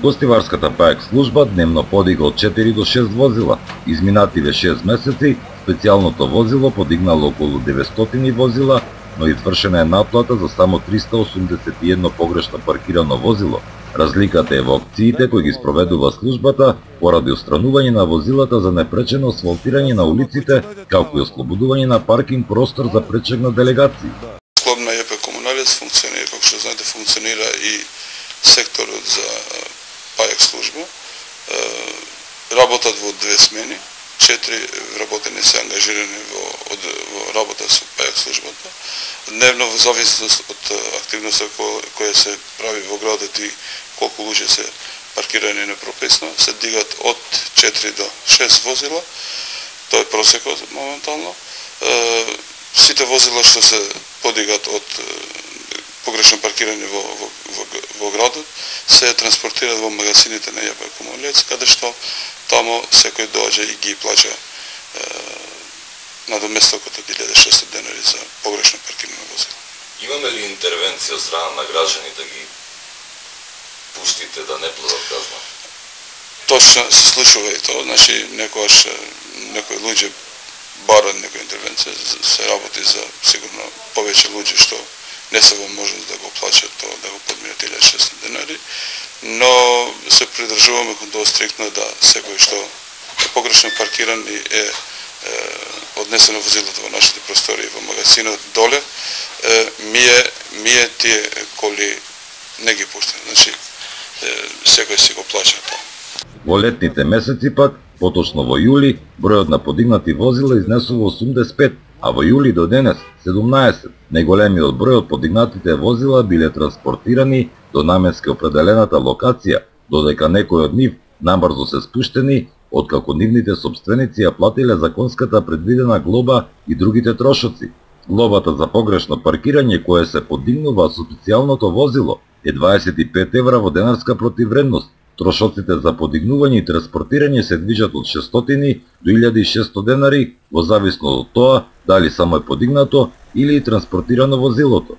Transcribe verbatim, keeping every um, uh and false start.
Гостиварската ПАЕК служба дневно подига од четири до шест возила. Изминативе шест месеци специјалното возило подигнало околу деветстотини возила, но извршена е наплата за само триста осумдесет и едно погрешно паркирано возило. Разликата е во акциите кои ги спроведува службата поради отстранување на возилата за непречено асфалтирање на улиците, како и ослободување на паркинг простор за пречег на делегации. Клубна ЕП Комуналец функционира, како што знаете, функционира и секторот за ПАЕК служба. Работат во две смени, четири вработени се ангажирани во, од, во работа со ПАЕК службата. Дневно, во зависност од активноста која се прави во градот и колку луѓе се паркирани непрописно, се дигат од четири до шест возила. Тоа е просекот моментално. Сите возила што се подигат од погрешно паркирање во, во, во, во градот се транспортираат во магазините на ЕП Комуналец, каде што тамо секој доаѓа и ги плаќа надоместокот од илјада и шеста денари за погрешно паркирано возило. Имаме ли интервенција од страна на граѓани да ги пуштите да не платат казна? Точно се случува и тоа, значи некојаш некои луѓе барат некоја интервенција, се работи за сигурно повеќе луѓе што не се во можност да го плаќат тоа, да го подминат илјада и шеста денари, но се придржуваме кон тоа стриктно да секој што е погрешно паркиран и е однесено возилото во нашите простори во магазинот доле, мие, мие тие коли не ги пуштаме. Значи, секој си го плаќа тоа. Во летните месеци пак, поточно во јули, бројот на подигнати возила изнесува осумдесет и пет, а во јули до денес седумнаесет. Најголемиот број од подигнатите возила биле транспортирани до наменски определената локација, додека некои од нив набрзо се спуштени, откако нивните сопственици ја платиле законската предвидена глоба и другите трошоци. Глобата за погрешно паркирање кое се подигнува со специјалното возило е дваесет и пет евра во денарска противвредност. Трошоците за подигнување и транспортирање се движат од шестстотини до илјада и шеста денари, во зависност од тоа дали само е подигнато или транспортирано возилото.